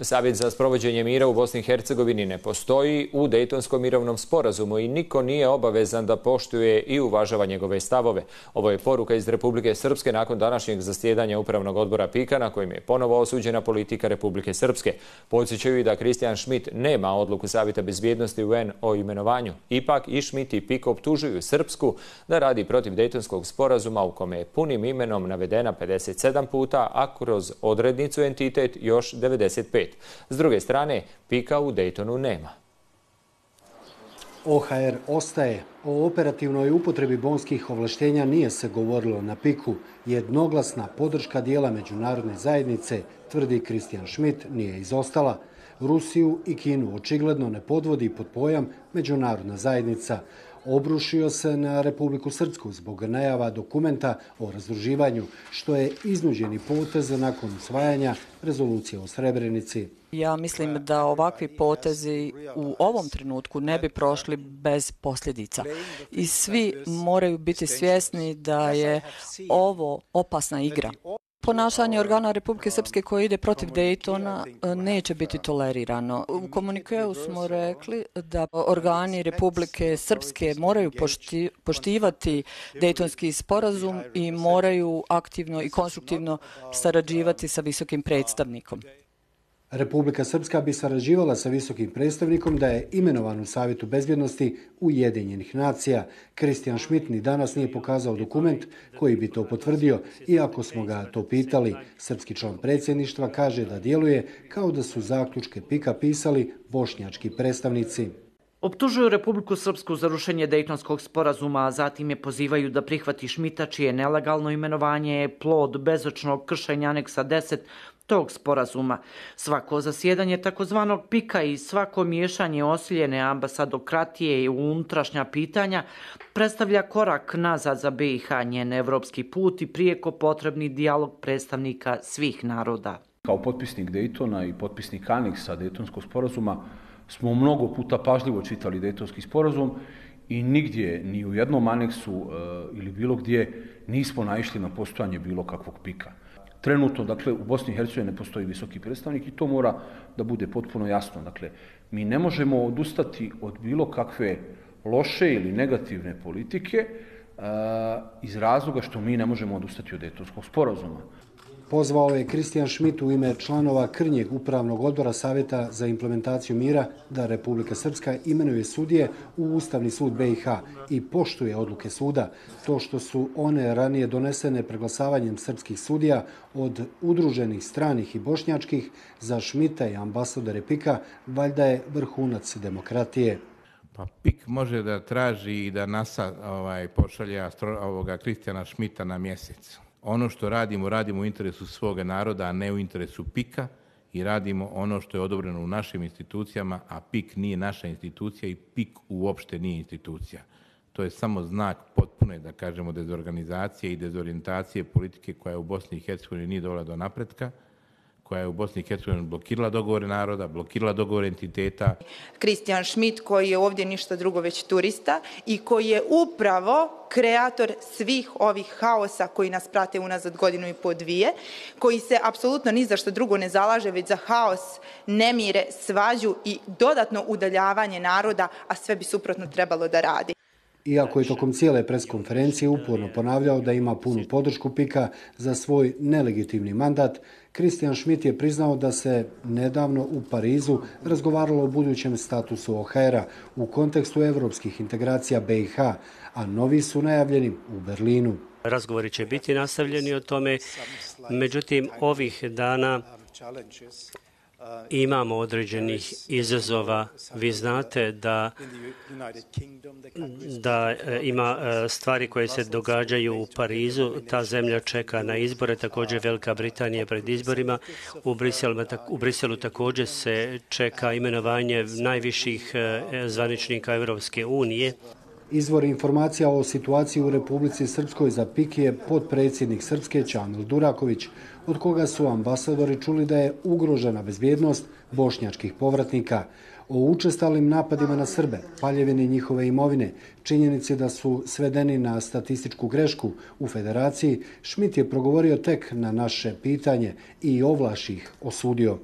Savjet za sprovođenje mira u Bosni i Hercegovini ne postoji u Dejtonskom mirovnom sporazumu i niko nije obavezan da poštuje i uvažava njegove stavove. Ovo je poruka iz Republike Srpske nakon današnjeg zasjedanja Upravnog odbora PIK-a na kojem je ponovo osuđena politika Republike Srpske. Podsjećaju i da Christian Schmidt nema odluku Savjeta bezbjednosti UN o imenovanju. Ipak i Schmidt i PIK optužuju Srpsku da radi protiv Dejtonskog sporazuma u kome je punim imenom navedena 57 puta, a kroz odrednicu entitet još 95. S druge strane, PIK-a u Dejtonu nema. OHR ostaje. O operativnoj upotrebi bonskih ovlaštenja nije se govorilo na PIK-u. Jednoglasna podrška dijela međunarodne zajednice, tvrdi Christian Schmidt, nije izostala. Rusiju i Kinu očigledno ne podvodi pod pojam međunarodna zajednica. Obrušio se na Republiku Srpsku zbog najava dokumenta o razdruživanju, što je iznuđeni potez nakon usvajanja rezolucije o Srebrenici. Ja mislim da ovakvi potezi u ovom trenutku ne bi prošli bez posljedica. I svi moraju biti svjesni da je ovo opasna igra. Ponašanje organa Republike Srpske koje ide protiv Dejtona neće biti tolerirano. U komunikeu smo rekli da organi Republike Srpske moraju poštivati Dejtonski sporazum i moraju aktivno i konstruktivno sarađivati sa visokim predstavnikom. Republika Srpska bi sarađivala sa visokim predstavnikom da je imenovan u Savjetu bezbjednosti Ujedinjenih nacija. Christian Schmidt ni danas nije pokazao dokument koji bi to potvrdio, iako smo ga to pitali. Srpski član predsjedništva kaže da djeluje kao da su zaključke PIK-a pisali bošnjački predstavnici. Optužuju Republiku Srpsku za rušenje Dejtonskog sporazuma, a zatim je pozivaju da prihvati Schmidta, čije nelegalno imenovanje je plod bezočnog kršenja aneksa 10 tog sporazuma. Svako zasjedanje takozvanog PIK-a i svako miješanje osiljene ambasadokratije u unutrašnja pitanja predstavlja korak nazad za BiH, njen evropski put i prijeko potrebni dijalog predstavnika svih naroda. Kao potpisnik Dejtona i potpisnik aneksa Dejtonskog sporazuma smo mnogo puta pažljivo čitali Dejtonski sporazum i nigdje, ni u jednom aneksu ili bilo gdje nismo naišli na postojanje bilo kakvog PIK-a. Trenutno, dakle, u Bosni i Hercegovini ne postoji visoki predstavnik i to mora da bude potpuno jasno. Dakle, mi ne možemo odustati od bilo kakve loše ili negativne politike iz razloga što mi ne možemo odustati od Dejtonskog sporazuma. Pozvao je Christian Schmidt u ime članova Krnjeg upravnog odbora Savjeta za implementaciju mira da Republika Srpska imenuje sudije u Ustavni sud BiH i poštuje odluke suda. To što su one ranije donesene preglasavanjem srpskih sudija od udruženih stranih i bošnjačkih za Schmidta i ambasadore PIK-a valjda je vrhunac demokratije. Pa PIK može da traži i da NASA pošalje Christiana Schmidta na mjesec. Ono što radimo, radimo u interesu svoga naroda, a ne u interesu PIK-a i radimo ono što je odobreno u našim institucijama, a PIK nije naša institucija i PIK uopšte nije institucija. To je samo znak potpune, da kažemo, dezorganizacije i dezorijentacije politike koja je u Bosni i Hercegovini nije dovela do napretka, koja je u Bosni i Hercegovini blokirala dogovore naroda, blokirala dogovore entiteta. Christian Schmidt koji je ovdje ništa drugo već turista i koji je upravo kreator svih ovih haosa koji nas prate unazad godinu i po dvije, koji se apsolutno ni za što drugo ne zalaže, već za haos, nemire, svađu i dodatno udaljavanje naroda, a sve bi suprotno trebalo da radi. Iako je tokom cijele preskonferencije uporno ponavljao da ima punu podršku PIK-a za svoj nelegitimni mandat, Christian Schmidt je priznao da se nedavno u Parizu razgovaralo o budućem statusu OHR-a u kontekstu evropskih integracija BiH, a novi su najavljeni u Berlinu. Razgovori će biti nastavljeni o tome, međutim ovih dana imamo određenih izazova. Vi znate da ima stvari koje se događaju u Parizu. Ta zemlja čeka na izbore, također Velika Britanija pred izborima. U Briselu također se čeka imenovanje najviših zvaničnika Evropske unije. Izvor informacija o situaciji u Republici Srpskoj za PIK je potpredsjednik Srpske Čamil Duraković, od koga su ambasadori čuli da je ugrožena bezbjednost bošnjačkih povratnika. O učestalim napadima na Srbe, paljevini njihove imovine, činjenici da su svedeni na statističku grešku u federaciji, Schmidt je progovorio tek na naše pitanje i ovlaš ih osudio.